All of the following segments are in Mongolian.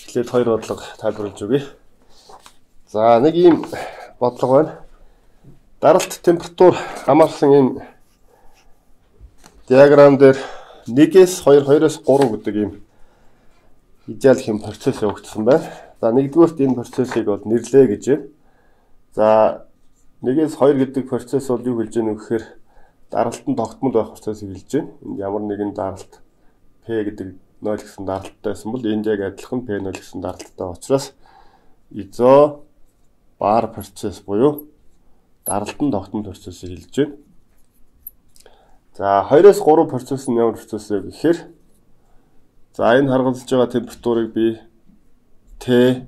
эхлээд хоёр бодлого тайлбарлаж өгье. За нэг ийм бодлого байна. Даралт температур хамаарсан ийм диаграм дээр 1-ээс 2, 2-оос 3 гэдэг ийм идеал хэм процесс явагдсан байна. За нэгдүгээрт энэ процессыг бол нэрлэе гэж байна. За 1-ээс 2 гэдэг процесс бол юу хэлж байгаа вэ гэхээр даралтанд тогтмол байх процессыг хэлж байна. Энд ямар нэгэн даралт P гэдэг 0 гэсэн даралттай байсан бол энд яг адилхан P0 гэсэн даралттай учраас изо бар процесс буюу даралтанд тогтмол процессыг хэлж байна. За 2-оос 3 процесс нь ямар процесс вэ гэхээр за энэ харгалзаж байгаа температурыг би T1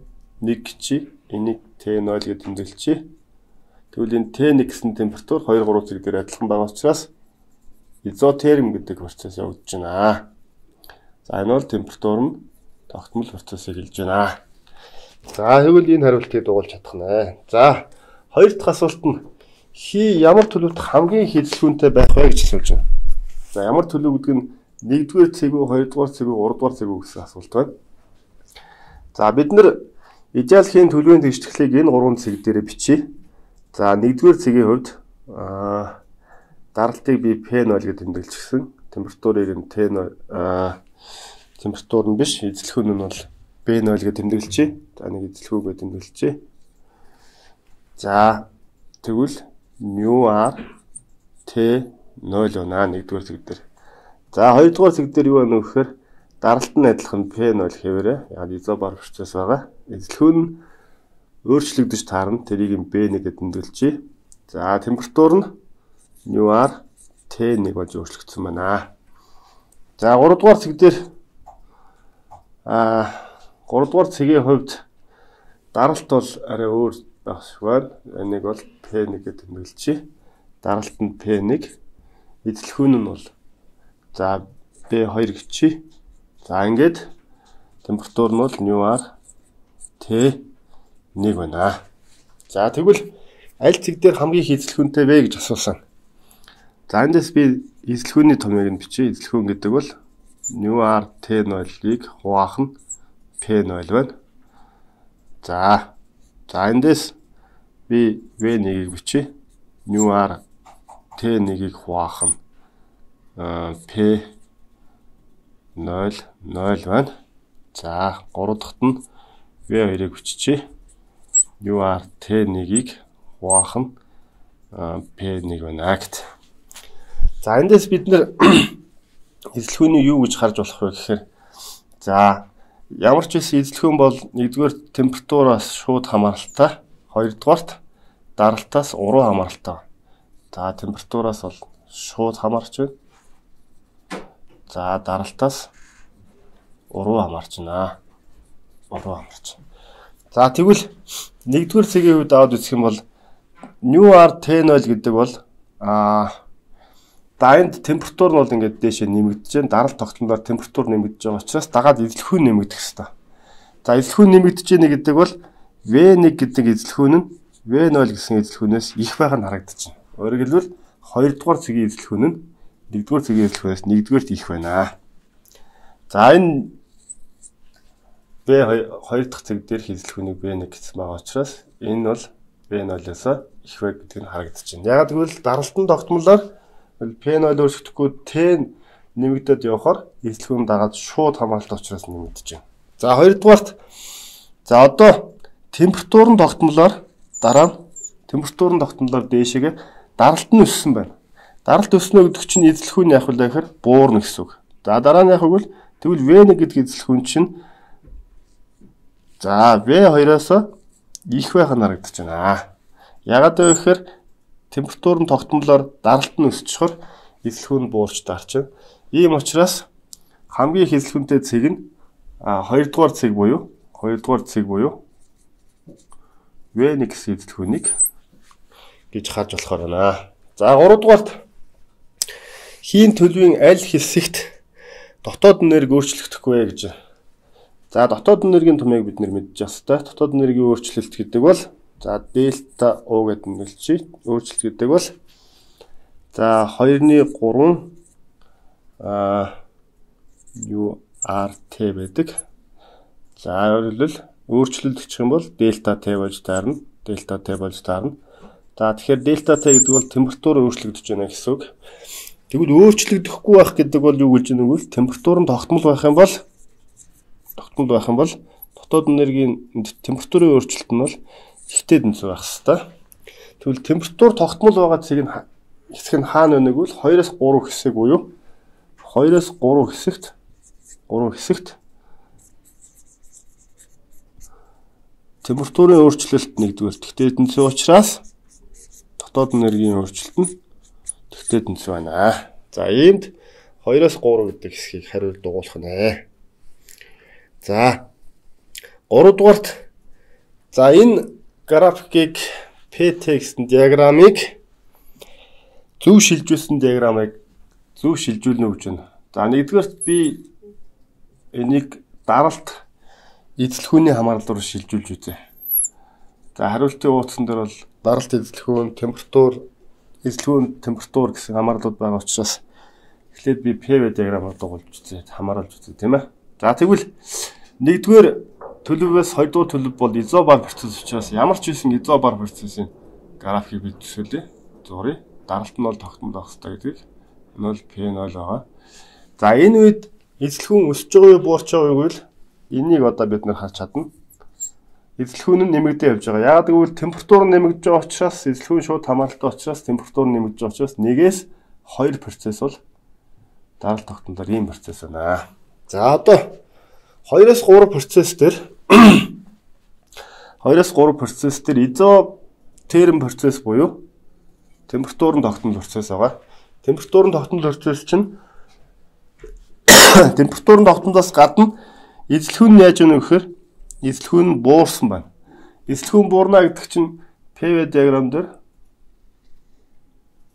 чи энийг T0 гэж тэмдэглэчихье. Тэгвэл энэ T1 гэсэн температур 2, 3 зэрэг дээр адилхан байгаа учраас изотерм гэдэг процесс явагдаж байна. За энэ бол температур нь тогтмол процессыг хэлж байна. За тэгвэл энэ хариултыг дугуулж чадах нэ. За хоёр дахь асуулт нь хий ямар төлөвт хамгийн их эзлэхүүнтэй байх вэ гэж асууж байна. За ямар төлөв гэдэг нь 1-р цэгүү, 2-р цэгүү, 3-р цэгүү гэсэн асуулт байна. За бид нэр идеал хийн төлөвийн тэгшлэгийг энэ 3 цэг дээр бичье. За 1-р цэгийн хувьд даралтыг би P0 гэж тэмдэглэжсэн. Температурыг нь T0 температур нь биш, эзлэхүүн нь бол B0 гэж тэмдэглэжээ. За нэг эзлэхүүгээ тэмдэглэжээ. За тэгвэл μr T0 байна 1-р цэг дээр. За 2-р цэг дээр юу байна вэ гэхээр даралт нь адилхан P0 хэвээрээ яг изобар процесс байгаа. Эзлэхүүн нь өөрчлөгдөж таарна. Тэрийг B1 гэж тэмдэглэжээ. За температур нь μr T1 болж өөрчлөгдсөн байна. За 3-р цэг дээр 3-р цэгийн хувьд даралт бол арай өөр байх шиг байна. Энийг бол P1 гэж тэмдэглэжээ. Даралт нь P1, эзлэхүүн нь бол за B2 гэчээ. За ингээд температур нь бол μr T1 байна. За тэгвэл аль цэг дээр хамгийн их эзлэхүүнтэй вэ гэж асуусан. За эндээс би эзлэхүүний томьёог нь бичье. Эзлэхүүн гэдэг бол μr T0-ыг хуваах нь P0 байна. За эндээс би V1-ийг бичье. μr T1-ыг хуваах нь P0 байна. За 3 дахьт нь V2-ыг биччихье. μr T1-ыг хуваах нь P1 байна гэт. За эндээс бид нэр эзлэхүүний юу гэж харж болох вэ гэхээр за ямар ч байсан эзлэхүүн бол 1-р температураас шууд хамааралтай, 2-дугаарт даралтаас уруу хамааралтай. За температураас бол шууд хамаарч байна. За даралтаас уруу хамаарч байна. За тэгвэл 1-р цэгийн хувьд аваад үзэх юм бол μr T0 гэдэг бол энд температур нь бол ингээд дээшээ нэмэгдэж байна. Даралт тогтмолоор температур нэмэгдэж байгаа учраас дагаад эзлэхүүн нэмэгдэх ёстой. За эзлэхүүн нэмэгдэж байна гэдэг бол V1 гэдэг эзлэхүүн нь V0 гэсэн эзлэхүүнээс их байх нь харагдаж байна. Өөрөөр хэлбэл 2-р цэгийн эзлэхүүн нь 1-р цэгийн эзлэхүүнээс 1-дүгээрт их байна. За энэ V2 дахь цэг дээр эзлэхүүнийг V1 гэсэн байгаа учраас энэ бол V0-оос их вэ гэдэг нь харагдаж байна. Яг тэгвэл даралтын тогтмолоор P0 өөрчлөгдөхгүй T нэмэгдээд явахаар эзлэхүүн дагаад шууд хамааралтай учраас нэмэгдэж байна. За 2-дугаарт за одоо температурын тогтмолоор дээшээгээ даралт нь өссөн байна. Даралт өснө гэдэг чинь эзлэхүүн яах вэ гэхээр буурна гэсэн үг. За дараа нь яах вэ тэгвэл V1 гэдэг эзлэхүүн чинь за V2-оос их байх нь харагдаж байна. Ягаад вэ гэхээр температурын тогтмолоор даралт нь өсчихөр эзлэхүүн буурч дарч байна. Ийм учраас хамгийн их эзлэхүүнтэй цэг нь 2-дугаар цэг буюу V1 гэсэн эзлэхүүнийг гэж харж болохоор байна. За 3-дугаарт хийн төлөвийн аль хэсэгт дотоод энерги өөрчлөгдөхгүй гэж. За дотоод энергийн томьёог бид нэр мэдж ёстой. Дотоод энергийн өөрчлөлт гэдэг бол за дельта U гэдэг нь хэлчихье. Өөрчлөлт гэдэг бол за 2-ны 3 URT байдаг. За өөрөлдөл өөрчлөлт гэх юм бол дельта Т болж таарна. Дельта Т болж таарна. За тэгэхээр дельта Т гэдэг бол температур өөрчлөгдөж байна гэсэн үг. Тэгвэл өөрчлөгдөхгүй байх гэдэг бол юу гэж байна вэ? Температур нь тогтмол байх юм бол дотоод энергийн температурын өөрчлөлт нь бол ихтэй тэнцүү байх хэвээр. Тэгвэл температур тогтмол байгаа хэсэг нь хаана вэ гэвэл 2-3 хэсэг буюу 2-3 хэсэгт температурын өөрчлөлт нэгдүгээр тэгтэй тэнцүү учраас дотоод энергийн өөрчлөлт нь тэгтэй тэнцүү байна. За иймд 2-3 гэдэг хэсгийг хариулт дугуулах нэ. За 3 дугаарт энэ графикийг PT гэсэн диаграмыг зөв шилжүүлсэн диаграмыг зөв шилжүүлнэ гэж байна. За нэгдүгээрт би энийг даралт эзлэхүүний хамаарлалаар шилжүүлж үзье. За хариултын ууцсан дээр бол даралт эзлэхүүн, эзлэхүүн температур гэсэн хамаарлууд байгаа учраас эхлээд би PV диаграмаар дугуулж үзье, хамааруулж үзье тийм ээ. За тэгвэл нэгдүгээр төлөвөөс хоёрдугаар төлөв бол изобар процесс учраас ямар ч байсан изобар процессын графикийг бид төсөөлье. Зуръя. Даралт нь бол тогтмол байх хэрэгтэй гэдгийг 0 P0 байгаа. За энэ үед эзлэхүүн өсөж байгаа юу, буурч байгаа юу гэвэл энийг одоо бид нэр харж чадна. Эзлэхүүн нь нэмэгдээ явж байгаа. Яг гэвэл температур нь нэмэгдэж байгаа учраас эзлэхүүн шууд хамааралтай учраас температур нь нэмэгдэж байгаа учраас 1-2 процесс бол даралт тогтмолоор ийм процесс байна. За одоо 2-3 процесс дээр изотерм процесс буюу температурын тогтмол процесс байгаа. Температурын тогтмол процесс чинь температурын тогтмолоос гадна эзлэхүүн нь яаж өгнө гэхээр эзлэхүүн нь буурсан байна. Эзлэхүүн буурна гэдэг чинь PV диаграм дээр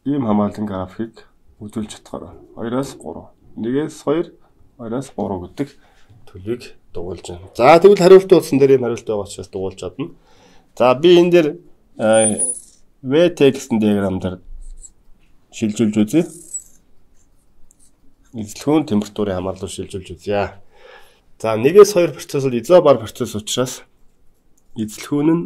ийм хамааллын графикийг үзүүлж чадхаар байна. 2-3, 1-2, 2-3 гэдэг төлөвийг дугуулж байна. За тэгвэл хариултын утсан дээр энэ хариулт байгаа учраас дугуулж чадна. За би энэ дээр VT гэсэн диаграм дээр шилжүүлж үзье. Эзлэхүүн температурын хамаарлал шилжүүлж үзье. За 1-2 процесс бол изобар процесс учраас эзлэхүүн нь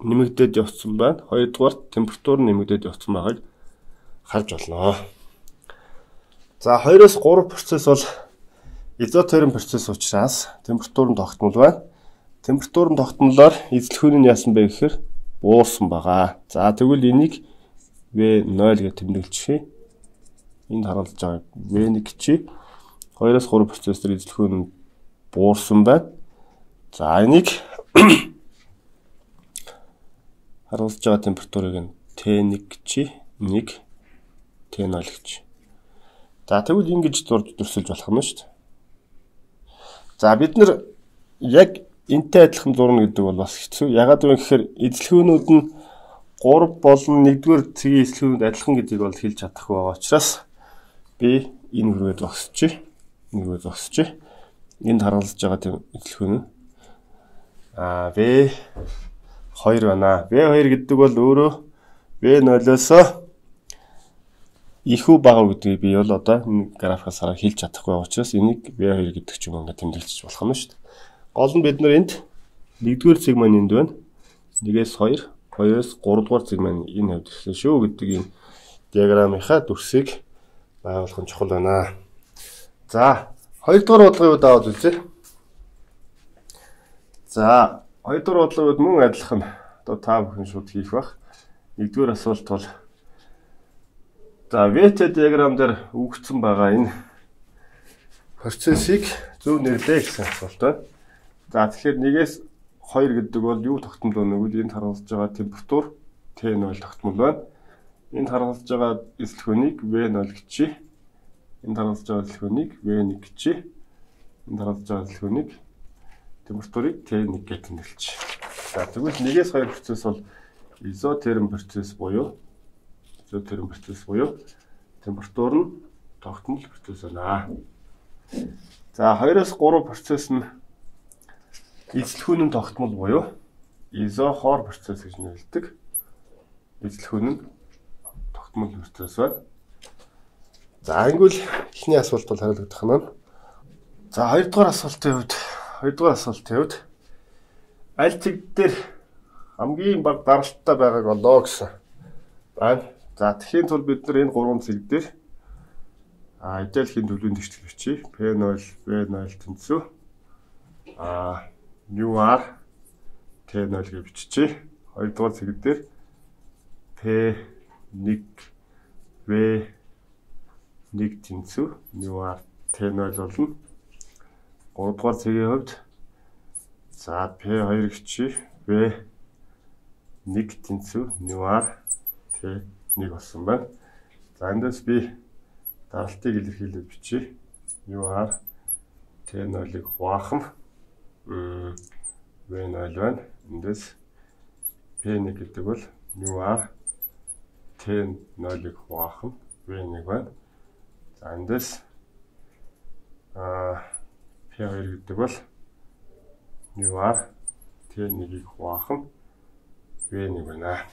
нэмэгдээд явцсан байна. Хоёрдугаар температур нь нэмэгдээд явцсан байгааг харж болно. За 2-3 процесс бол изотерм процесс учраас температурын тогтмол байна. Температурын тогтмолоор эзлэхүүн нь яасан бэ гэхээр буурсан байгаа. За тэгвэл энийг V0 гэж тэмдэглэчихье. Энд харуулж байгаа V1 чи 2-3 процессор эзлэхүүн нь буурсан байна. За энийг харуулж байгаа температурыг нь T1 чи 1 T0 гэж. За тэгвэл ингэж зурсэлж болох юм шүү дээ. За бид нар яг энтэй адилхан зурна гэдэг бол бас хэцүү. Ягаад вэ гэхээр эзлэхүүнүүд нь 3 болон 1-р цэгийн эзлэхүүнүүд адилхан гэдгийг бол хэлж чадахгүй байгаа учраас би энэ хүрээ зогсчих. Энд харуулж байгаа эзлэхүүн нь V2 байна. V2 гэдэг бол өөрөө V0-оос ихүү бага гэдгийг би бол одоо энэ графикаас хараад хэлж чадахгүй байгаа учраас энийг V2 гэдэг ч юм ингээд тэмдэглэж болох юм шүү дээ. Гол нь бид нар энд 1-р сегмент энд байна. 1-2, 2-3 дугаар сегмент энэ хавьд ирсэн шүү гэдэг энэ диаграмынхаа дүрсийг байгуулах нь чухал байна. За 2 дугаар бодлогын үед аваад үзье. За 2 дугаар бодлогын үед мөн адилхан одоо та бүхэн шууд хийх бах. 1-р асуулт бол за VT диаграм дээр өгөгдсөн байгаа энэ процессыг зөв нэрлэе гэсэн асуулт байна. За тэгэхээр 1-2 гэдэг бол юу тогтмол байна вэ гэвэл энд харуулж байгаа температур T0 тогтмол байна. Энд харуулж байгаа эзлэхүүнийг V0 гэчи. Энд харуулж байгаа эзлэхүүнийг V1 гэчи. Энд харуулж байгаа эзлэхүүнийг температурыг T1 гэж тэмдэглэж. За тэгвэл 1-2 процесс бол изотерм процесс буюу температур нь тогтмол процесс байна. За 2-3 процесс нь эзлэхүүн нь тогтмол буюу изохор процесс гэж нэрлэдэг. Эзлэхүүн нь тогтмол процесс байна. За англи эхний асуулт бол хариулагдах нь За хоёрдугаар асуултын хувьд аль цэг дээр хамгийн бага даралттай байгааг олоо гэсэн байна. За тэгэхээр тул бид нар энэ гурван цэг дээр эдэлхийн төлөвийн тэгшэл бичиж P0, V0 тэнцүү UR T0 гэж бичиж хоёрдугаар цэг дээр P1, V1 тэнцүү UR T0 болно. Гуравдугаар цэгийн хувьд за P2 гिचи V1 тэнцүү UR T1 болсон байна. За эндээс би даралтыг илэрхийлээд бичиж UR T0-ыг хуваахам V0 байна. Эндээс P1 гэдэг бол UR T0-ыг хуваахам V1 байна. За эндээс P2 гэдэг бол UR T1-ийг хуваахам V1 байна.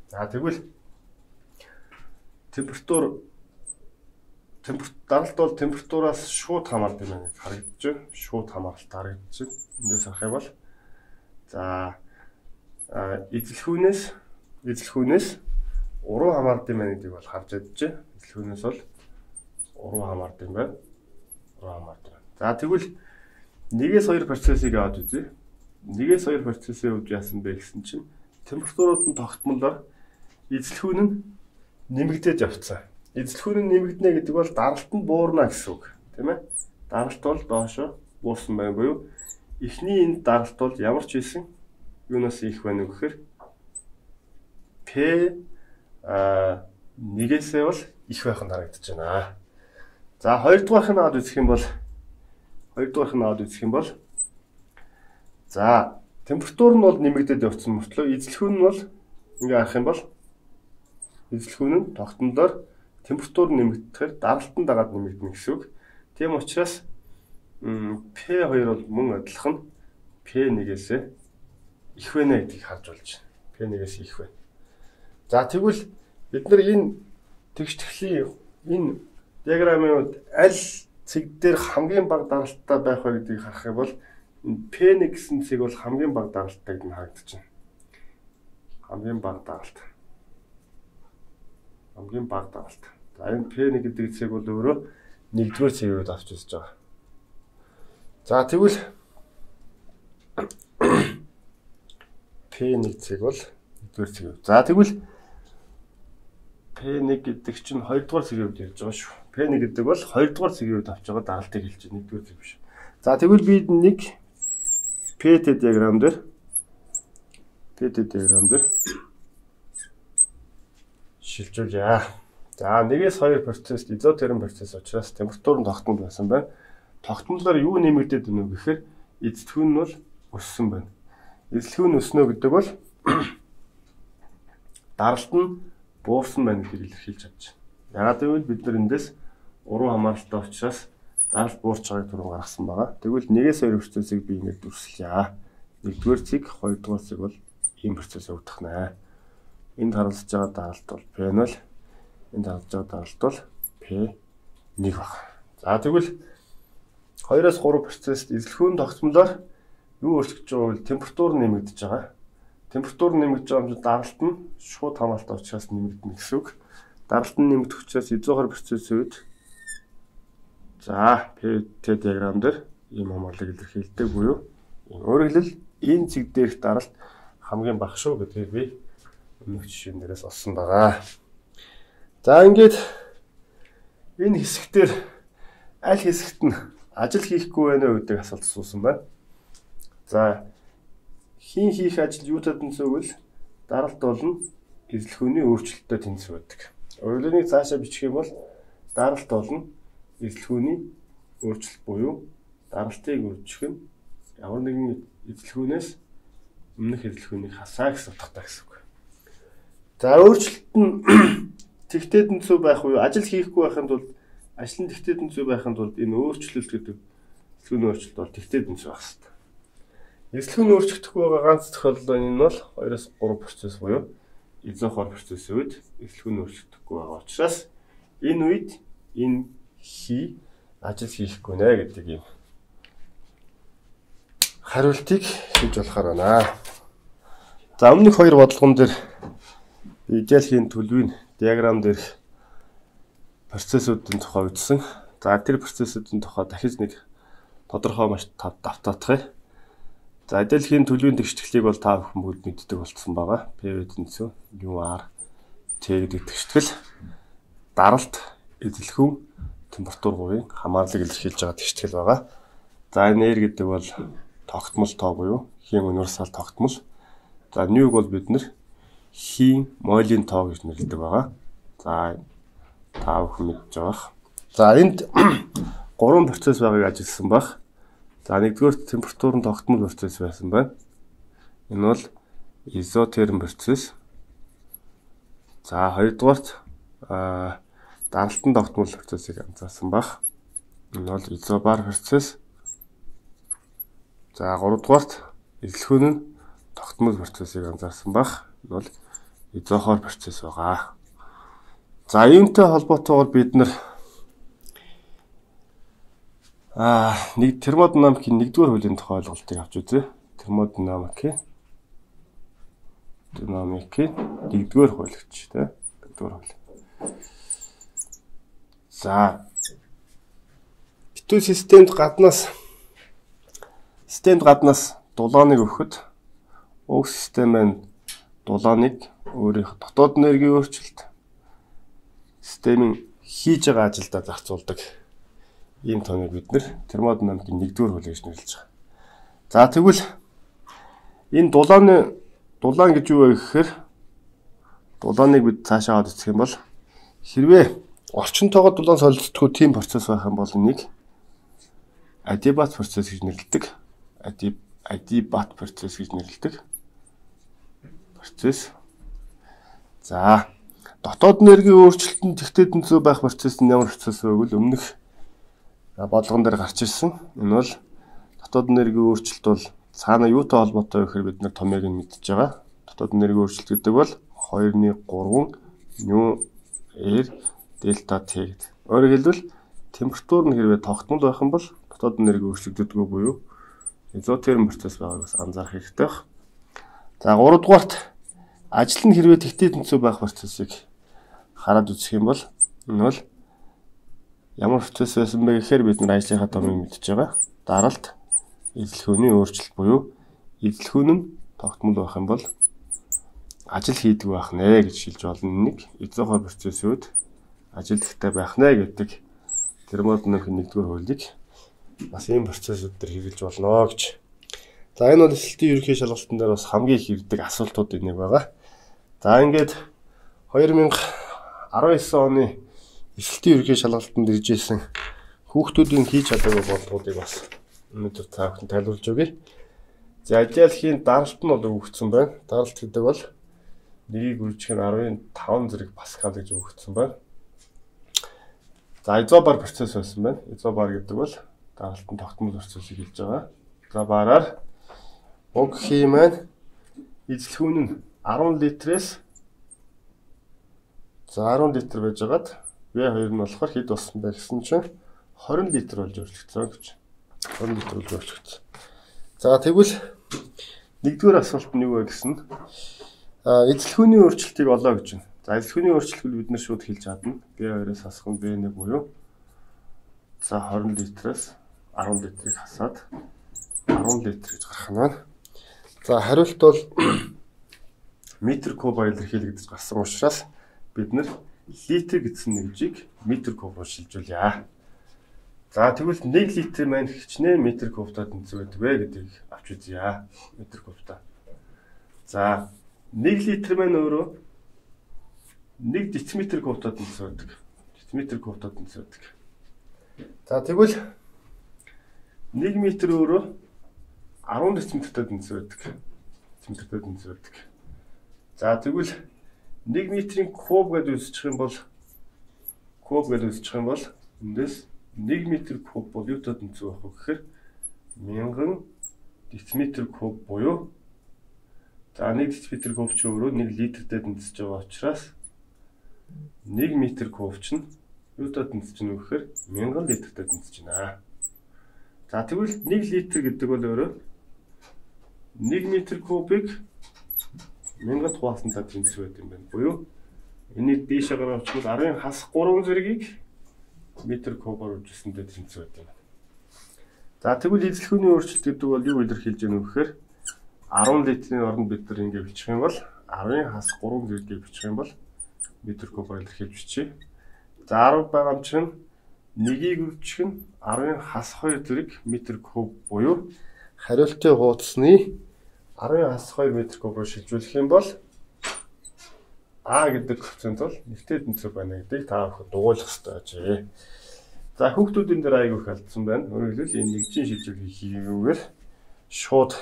За тэгвэл даралт бол температураас шууд хамаардаг юм гэж харагдаж байна. Шууд хамааралтай харагдаж байна. Эндээс харах юм бол за эзэлхүүнээс уруу хамаардаг юм гэдгийг бол харж чадж байна. Эзэлхүүнээс бол уруу хамаардаг юм байна. Уруу хамаардаг. За тэгвэл 1-2 процессыг аваад үзье. 1-2 процессын хувьд яасан бэ гэсэн чинь температурууд нь тогтмолоор эзэлхүүн нь нэмэгдээд явцсан. Эзэлхүүн нь нэмэгдэнэ гэдэг бол даралт нь буурна гэсэн үг, тийм ээ? Даралт бол доошо буурсан байна буюу эхний энэ даралт бол ямар ч хэлсэн юунаас их байна вэ гэхээр P нэгээсээ бол их байх нь харагдаж байна. За хоёрдугаарх нь аваад үзэх юм бол за температур нь бол нэмэгдээд явцсан мөртлөө эзэлхүүн нь бол ингээ харах юм бол эзэлхүүн нь тогтнолоор температур нэмэгдэхээр даралт нь дагаад нэмэгдэнэ гэсэн үг. Тийм учраас P2 бол мөн адилхан P1-ээс их байна гэдгийг харж болж байна. P1-ээс их байна. За тэгвэл бид нар энэ тэгштгэлийн энэ диаграмын аль цэг дээр хамгийн бага даралттай байх вэ гэдгийг харах юм бол P1 гэсэн цэг бол хамгийн бага даралттай гэж харагдаж байна. Хамгийн бага даралт. За энэ P1 гэдэг цэг бол өөрөө 1-р цэгийг авч үзэж байгаа. За тэгвэл P1 цэг бол 1-р цэг. За тэгвэл P1 гэдэг чинь 2-р цэгийн хувьд ярьж байгаа шүү. P1 гэдэг бол 2-р цэгийн хувьд авч байгаа даралтыг хэлж байна. 1-р цэг биш. За тэгвэл би нэг PT диаграм дээр шилжүүлье. За 1-2 процесс изотерм процесс учраас температур нь тогтмол байсан байна. Тогтмолоор юу нэмэгдээд байна вэ гэхээр эзэлхүүн нь бол өссөн байна. Эзэлхүүн өснө гэдэг бол даралт нь буурсан байна гэдгийг илэрхийлж чадж байна. Яагаад гэвэл бид нар эндээс уруу хамааралтай учраас даралт буурч байгааг түрүү гаргасан байгаа. Тэгвэл 1-2 процессыг би ингэж дүрслэе. 1-р цэг, 2-р цэг бол ийм процесс явагдах нэ. Энд харгалзаж байгаа даралт бол P0, энд харгалзаж байгаа даралт бол P1 баг. За тэгвэл 2-3 процесс эзэлхүүн тогтмолоор юу өөрчлөгдөж байгаа вэ? Температур нэмэгдэж байгаа. Температур нэмэгдэж байгаа юм даралт нь шууд хамааралтай учраас нэмэгдэнэ гэсэн үг. Даралт нь нэмэгдэх учраас изохор процессын үед за PT диаграм дээр ийм хамаарлыг илэрхийлдэг буюу өөрөөр хэлбэл энэ цэг дээрх даралт хамгийн бага шүү гэдгийг би өмнөх жишээн дээрээс олсон байгаа. За ингээд энэ хэсэгтэр аль хэсэгт нь ажил хийхгүй байна вэ гэдэг асуулт асуусан байна. За хин хийх ажил юутай тэнцвэг вэ? Даралт болно эзэлхүүний өөрчлөлтөд тэнцвэг байдаг. Өөрөлдөөний цаашаа бичих юм бол даралт болно эзэлхүүний өөрчлөлт буюу даралтыг өөрчлөх нь ямар нэгэн эзэлхүүнээс өмнөх эзэлхүүнийг хасаа гэсэн утгатай гэсэн үг. За өөрчлөлт нь тэгтээ тэнцвэг байх уу? Ажил хийхгүй байхын тулд ажил нь тэгтээ тэнцвэг байхын тулд энэ өөрчлөлт гэдэг эзэлхүүний өөрчлөлт бол тэгтээ тэнцвэг байх хэрэгтэй. Эзэлхүүн өөрчлөгдөхгүй байгаа ганц тохиолдол нь бол 2-3 процесс буюу изохор процессын үед эзэлхүүн өөрчлөгдөхгүй байгаа учраас энэ үед энэ ажил хийхгүй нэ гэдэг юм хариултыг хийж болохоор байна. За өмнөх хоёр бодлогон дээр идеалхийн төлөвийн диаграм дээрх процессуудын тухай үзсэн. За тэр процессуудын тухай дахиж нэг тодорхой маш давтаатгая. За идеалхийн төлөвийн тэгшгэлийг бол та бүхэн бүгд мэддэг болцсон байгаа. P тэнцүү UR T гэдэг тэгшгэл даралт, эзлэхүүн, температур хувийн хамаарлыг илэрхийлж байгаа тэгшгэл байгаа. За энэ R гэдэг бол тогтмол тоо буюу хийн универсал тогтмол. За ньюг бол бид нэр хийн молийн тоо гэж нэрлэдэг байгаа. За та бүхэн мэдж байгаа. За энд 3 процесс байгааг ажилласан баг. За нэгдүгээр температурын тогтмол процесс байсан байна. Энэ бол изотерм процесс. За хоёрдугаарт даралтын тогтмол процессыг анзаарсан баг. Энэ бол изобар процесс. За гуравдугаарт эзлэхүүн нь тогтмол процессыг анзаарсан баг. Энэ бол изохор процесс байгаа. За юунтай холбоотойгоор бид нар нэг термодинамикийн нэгдүгээр хуулийн тухай ойлголтыг авч үзье. Термодинамикийн нэгдүгээр хууль гэж тийм нэгдүгээр хууль. За битүү системд гаднаас дулааныг өгөхөд уг систем маань дулааныг өөрийнх дотоод энергийн өөрчлөлт системийн хийж байгаа ажилдаа зарцуулдаг. Ийм тооны бид нэр термодинамикийн нэгдүгээр хууль гэж нэрлэж байгаа. За тэгвэл энэ дулаан гэж юу вэ гэхээр дулааныг бид цаашаа аваад үзэх юм бол хэрвээ орчинтойгоо дулаан солилцдоггүй тийм процесс байх юм бол энийг адиабат процесс гэж нэрлэдэг. Адиабат процесс гэж нэрлэдэг. Процесс. За дотоод энергийн өөрчлөлтөнд тэгтээ тэнцүү байх процесс нь ямар процесс вэ гэвэл өмнөх бодлогон дээр гарч ирсэн. Энэ бол дотоод энергийн өөрчлөлт бол цаана юутай холбоотой вэ гэхээр бид нар томьёог нь мэдчихэж байгаа. Дотоод энергийн өөрчлөлт гэдэг бол 2-3 ню R дельта T гэдэг. Өөрөөр хэлбэл температур нь хэрвээ тогтмол байх юм бол дотоод энергийн өөрчлөгддөггүй буюу изотерм процесс байгааг бас анзаарах хэрэгтэй байна. За 3 дугаарт ажил нь хэрвээ тэгтээ тэнцүү байх процессыг хараад үзэх юм бол энэ бол ямар процесс байсан бэ гэхээр бид нар ажлынхаа томыг мэдчихэж байгаа. Даралт, эзлэхүүний өөрчлөлт буюу эзлэхүүн нь тогтмол байх юм бол ажил хийдэг байх нэ гэж хэлж болно. Нэг изохор процессүүд ажилтгтай байх нэ гэдэг термодинамикийн нэгдүгээр хуулийг бас ийм процессүүд төр хэрэгжилж болно гэж. За энэ бол эсэлтийн ерөнхий шалгалтын дээр бас хамгийн их ирдэг асуултуудын нэг байгаа. За ингээд 2019 оны эсэлтийн ерөнхий шалгалтанд ирж ирсэн хүүхдүүдийн хийж чадаагүй бодлогуудыг бас өнөөдөр та бүхэн тайлбарлаж өгье. За идеалхийн даралт нь бол өгөгдсөн байна. Даралт гэдэг бол нэгийг үржих нь 15 зэрэг паскал гэж өгөгдсөн байна. За изобар процесс байсан байна. Изобар гэдэг бол даралтын тогтмол процессыг хэлж байгаа. Изобараар уг хий маань эзлэхүүн нь 10 литрээс 10 литр байж байгаад V2 нь болохоор хэд болсон бэ гэсэн чинь 20 литр болж өөрчлөгдсөн гэж. 20 литр болж өөрчлөгдсөн. За тэгвэл нэгдүгээр асуулт нь юу вэ гэсэн эзлэхүүний өөрчлөлтийг олоо гэж байна. За эзлэхүүний өөрчлөлтийг бид нэр шууд хэлж чадна. V2-ээс хасах нь V1 буюу за 20 литраас 10 литрийг хасаад 10 литр гэж гарах нь байна. За хариулт бол метр кубаар илэрхийлэгдэж гарсан учраас бид нэр литр гэсэн нэмжийг метр кубаар шилжүүлье. За тэгвэл 1 литр маань хичнээн метр кубтаа тэнцвэр байдаг вэ гэдгийг авч үзье. Метр кубтаа. За 1 литр маань өөрөө 1 дециметр кубтаа тэнцвэр байдаг. Дециметр кубтаа тэнцвэр байдаг. За тэгвэл 1 метр өөрөө 10 дециметртэй тэнцвэр байдаг. Дециметртэй тэнцвэр байдаг. За тэгвэл 1 метрийн куб гэдээ үзчих юм бол эндээс 1 метр куб бол юутай тэнцвэр байх вэ гэхээр 1000 дециметр куб буюу за 1 дециметр куб ч өөрөө 1 литртэй тэнцэж байгаа учраас 1 метр куб чинь юутай тэнцэж байна вэ гэхээр 1000 литртэй тэнцэж байна. За тэгвэл 1 литр гэдэг бол өөрөө 1 м кубыг 1000 хуваалтандаа тэнцвэр байт юм байна. Буюу энийг дээшээ гаргаж очвол арын хас 3 зэргийг метр кубаар үжилсэндээ тэнцвэр байт юм байна. За тэгвэл эзлэхүүний өөрчлөлт гэдэг бол юу илэрхийлж байна вэ гэхээр 10 литрийн оронд бид нар ингэ бичих юм бол арын хас 3 зэргийг бичих юм бол метр кубаар илэрхийлж бичиж. За 10 байгаа юм чинь 1-ийг үржих нь 10-ын хас 2 зэрэг метр куб буюу хариултын хуудасны 10-ын хас 2 метр кубаар шилжүүлэх юм бол А гэдэг коэффициент бол нэгтэй тэнцвэр байна гэдгийг та бүхэн дугуйлах хэрэгтэй ажээ. За хүүхдүүдийн дээр айгүй их алдсан байна. Өөрөөр хэлбэл энэ нэгжийн шилжүүлгийг хийгээгээр шууд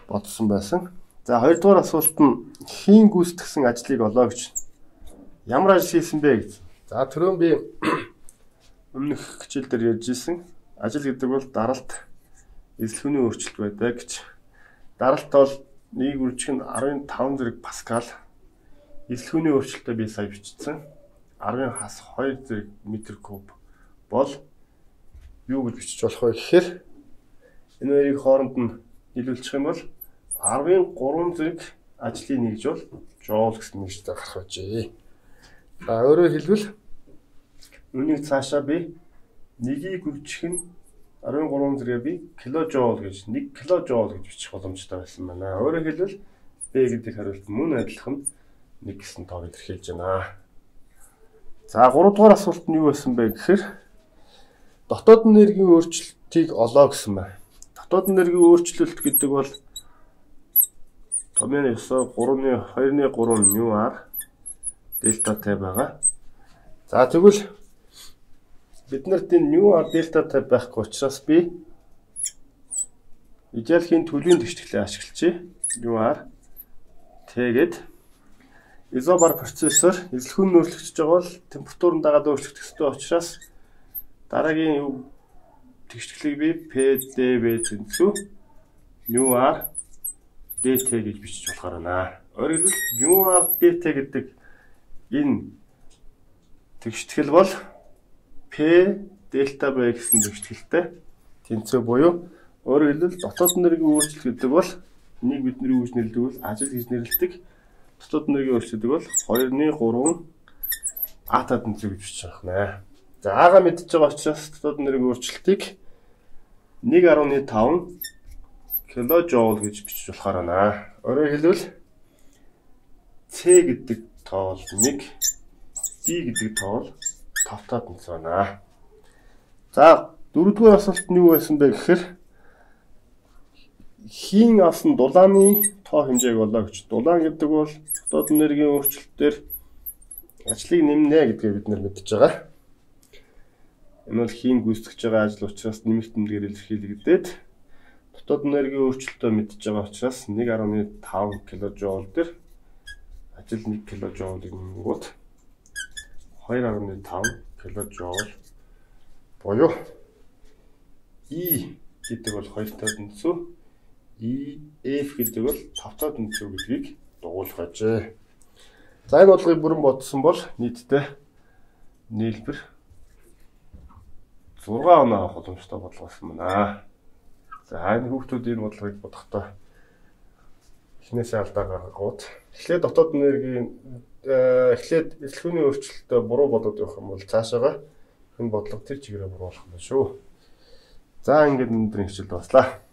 бодсон байсан. За хоёрдугаар асуулт нь хийн гүйцэтгсэн ажлыг олоо гэж. Ямар ажил хийсэн бэ гэж. За түрүүн би өмнөх хичээл дээр ярьж ирсэн. Ажил гэдэг бол даралт эзлэхүүний өөрчлөлт байдаг гэж. Даралт бол нэг үржих нь 15 зэрэг паскал. Эзлэхүүний өөрчлөлтөд би сая бичсэн. 10-ын хас 2 зэрэг метр куб бол юу гэж бичиж болох вэ гэхээр энэ хоёрыг хооронд нь нийлүүлчих юм бол 10-ын 3 зэрэг ажлын нэгж бол joule гэсэн нэгжтэй гарах байжээ. За өөрөөр хэлбэл үүнийг цаашаа би 1-ийг үржих нь 13 зэрэг би киложоул гэж 1 киложоул гэж бичих боломжтой байсан байна. Өөрөөр хэлбэл B гэдэг хариулт мөн адилхан 1 гэсэн тоог илэрхийлж байна. За 3 дугаар асуулт нь юу байсан бэ гэхээр дотоод энергийн өөрчлөлтийг олоо гэсэн байна. Дотоод энергийн өөрчлөлт гэдэг бол томьёоны 9 3-2-3 μr дельта Т байгаа. За тэгвэл бид нарт энэ μr дельта Т байхгүй учраас би идеалхийн төлөвийн тэгшгэлээ ашиглажээ. μr Т гээд изобар процессор эзлэхүүн өөрчлөгдөж байгаа бол температурын дагаад өөрчлөгдөх ёстой учраас дараагийн тэгшгэлийг би PdV тэнцүү μr dt гэж бичиж болохоор байна. Өөрөөр хэлбэл μr dt гэдэг энэ тэгштгэл бол P дельта V гэсэн тэгшгэлтэй тэнцүү буюу өөрөөр хэлбэл дотоод энергийн өөрчлөлт гэдэг бол энийг бидний үүж нэрлэдэг бол ажил гэж нэрлэдэг. Дотоод энергийн өөрчлөлт бол 2-3 ата тэнцүү гэж бичиж байна. За аага мэдчихэж байгаа учраас дотоод энергийн өөрчлөлтийг 1.5 киложоул гэж бичиж болохоор байна. Өөрөөр хэлбэл C гэдэг тоо бол 1, D гэдэг тоо бол 5-таа тэнцүү байна. За 4-р асуулт нь юу байсан бэ гэхээр хийн авсан дулааны тоо хэмжээг олоо гэж. Дулаан гэдэг бол дотоод энергийн өөрчлөлтөөр ажлыг нэмнэ гэдгийг бид нар мэдж байгаа. Энэ бол хийн гүйцэтгэж байгаа ажил учраас нэмэлт тэмдгээр илэрхийлэгдээд дотоод энергийн өөрчлөлтөө мэдж байгаа учраас 1.5 киложоул дээр ажил 1 киложоулыг нэмгүүд 2.5 киложоул буюу E гэдэг бол 2-таа тэнцүү, F гэдэг бол 5-таа тэнцүү гэдгийг дугуйлах ажээ. За энэ бодлогыг бүрэн бодсон бол нийтдээ нийлбэр 6 оноо авах боломжтой бодлого болсон байна. За энэ хүүхдүүд энэ бодлогыг бодохдоо эхнээсээ алдаа гаргахуут эхлээд дотоод энергийн эхлээд эзлэхүүний өөрчлөлтөд буруу бодоод явах юм бол цаашаага энэ бодлого тэр чигээрээ буруу болох юм шүү. За ингээд өнөөдрийн хичээл дуслаа.